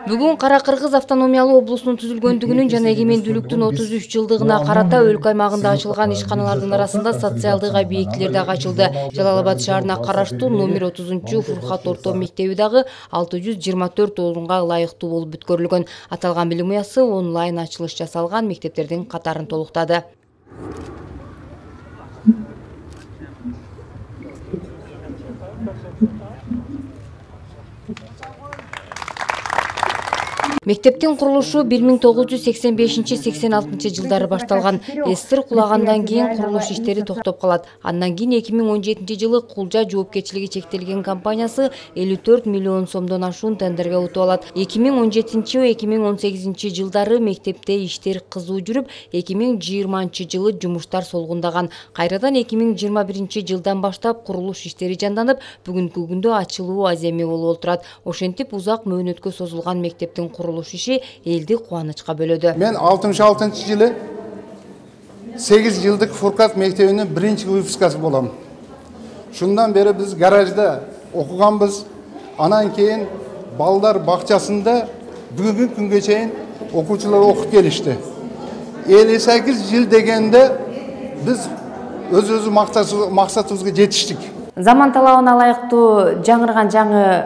Бүгүн Кара Кыргыз автономиялуу облусунун түзүлгөндүгүнүн жана эгемендүүлүктүн 33 жылдыгына карата өлкө аймагында ачылган ишканалардын арасында социалдык объектилер дагы ачылды. Жалал Абад шаарына караштуу номер 30 Фуркат орто мектеби дагы 624 орунга ылайыктуу болуп бүткөрүлгөн. Аталган билим уясы онлайн ачылыш жасалган мектептердин катарын толуктады. Мектептин курулушу 1985-86 жылдары башталган. СССР кулагандан кийин курулуш иштери токтоп калат. Андан кийин 2017 жылы Кулжа жоопкерчилиги чектелген компаниясы 54 миллион сомдон ашуун тендерге утуп алат. 2017-2018 жылдары мектепте иштер кызуу жүрүп, 2020 жылы жумуштар солгундаган. Кайрадан 2021 жылдан баштап курулуш иштери жанданып, бүгүнкү күндө ачылуу аземи болуп отурат. Ошентип узак мөөнөткө созулган мектептин курулуш иши элди кубанычка бөлөдү. Мен 66-жылы 8 жылдык Фуркат мектебинин биринчи выпускасы болом. Шундан бери биз гаражда окуганбыз. Анан кийин балдар бакчасында бүгүнкү күнгө чейин окуучулар окуп келишти. 58 жыл дегенде биз өз максатыбызга жетиштик. Заман талабына ылайыктуу жаңырган жаңы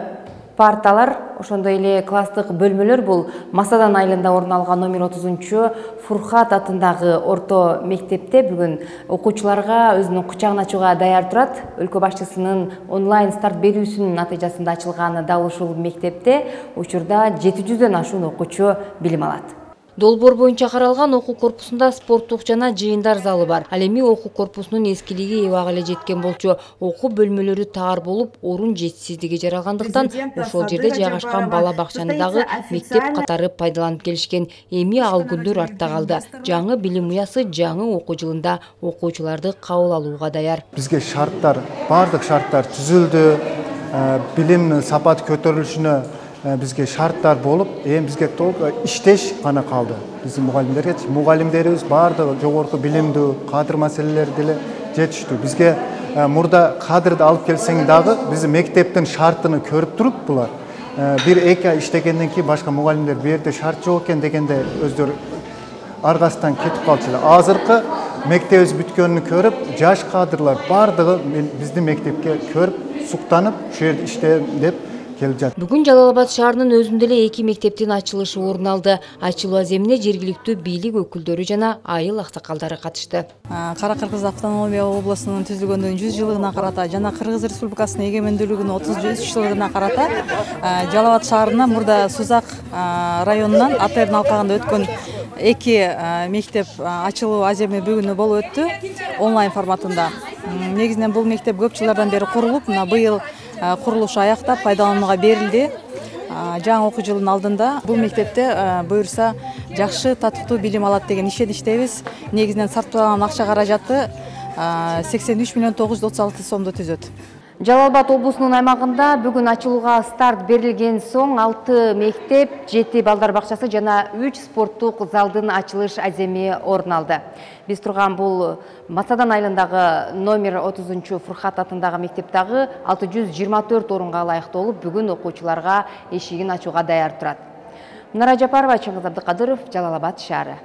парталар, ошондой эле класстык бөлмөлөр бул Масадан айылында орун алган номер 30 Фуркат атындагы орто мектепте бүгүн окуучуларга өзүнүн кучагын ачууга даяр турат. Өлкө башчысынын онлайн старт берүүсүнүн натыйжасында ачылган дал ушул мектепте учурда 700дөн ашуун окуучу билим алат. Долбоор боюнча каралган окуу корпусунда спорттук жана жыйындар залы бар. Ал эми окуу корпусунун эскилиги эбак эле жеткен болчу. Окуу бөлмөлөрү тар болуп, орун жетишсиздиги жаралгандыктан ошол жерде жайгашкан бала бакчаны дагы мектеп катары пайдаланып келишкен. Эми ал күндөр артта калды. Жаңы билим уясы жаңы окуу жылында окуучуларды кабыл алууга даяр. Бизге шарттар, бардык шарттар түзүлдү. Билимдин сапаты көтөрүлүшүнө бизге шарттар болуп, бизге толук иштеш гана калды. Биздин мугалимдерибиз бардыгы жогорку билимдүү, кадр маселелери деле жетиштүү. Бизге мурда кадрды алып келсең дагы биз мектептин шартын көрүп туруп булар 1-2 ай иштегенден кийин башка мугалимдер бу жерде шарт жок экен дегенде өздөрү аргасынан кетип калчулар. Азыркы мектебибиз бүткөнүн көрүп, жаш кадрлар бардыгы биздин мектепке көрүп, суктанып, ушул жерде иштейм деп келип жатат. Бүгүн Жалал Абад шаарынын өзүндө эле 2 мектептин ачылышы орун алды. Ачылуу аземине жергиликтүү бийлик өкүлдөрү жана айыл аксакалдары катышты. Кара Кыргыз автономия облусунун түзүлгөндүгүнүн 100 жылдыгына карата жана Кыргыз Республикасынын эгемендүүлүгүнүн 33 жылдыгына карата Жалал Абад шаарына мурда Сузак районунан Атердин алкагында өткөн 2 мектеп ачылуу аземи бүгүн болуп өттү онлайн форматында. Негизинен бул мектеп көп жылдардан бери курулуп, мына быйыл курулушу аяктап пайдаланууга берилди. Жаңы окуу жылдын алдында бул мектепте буюрса жакшы татыктуу билим алат деген ишеничтебиз. Негизинен сарпталган акча каражаты 83 миллион 936 сомду түзөт. Жалал Абад облусунун аймагында бүгүн ачылууга старт берилген соң 6 мектеп, 7 балдар бакчасы жана 3 спорттук залдын ачылыш аземи орун алды. Биз турган бул Масадан айылындагы номер 30 Фуркат атындагы мектеп дагы 624 орунга ылайыктуу болуп, бүгүн окуучуларга эшигин ачууга даяр турат. Мунара Жапарова, Чыңгыз Абдыкадыров, Жалал Абад шаары.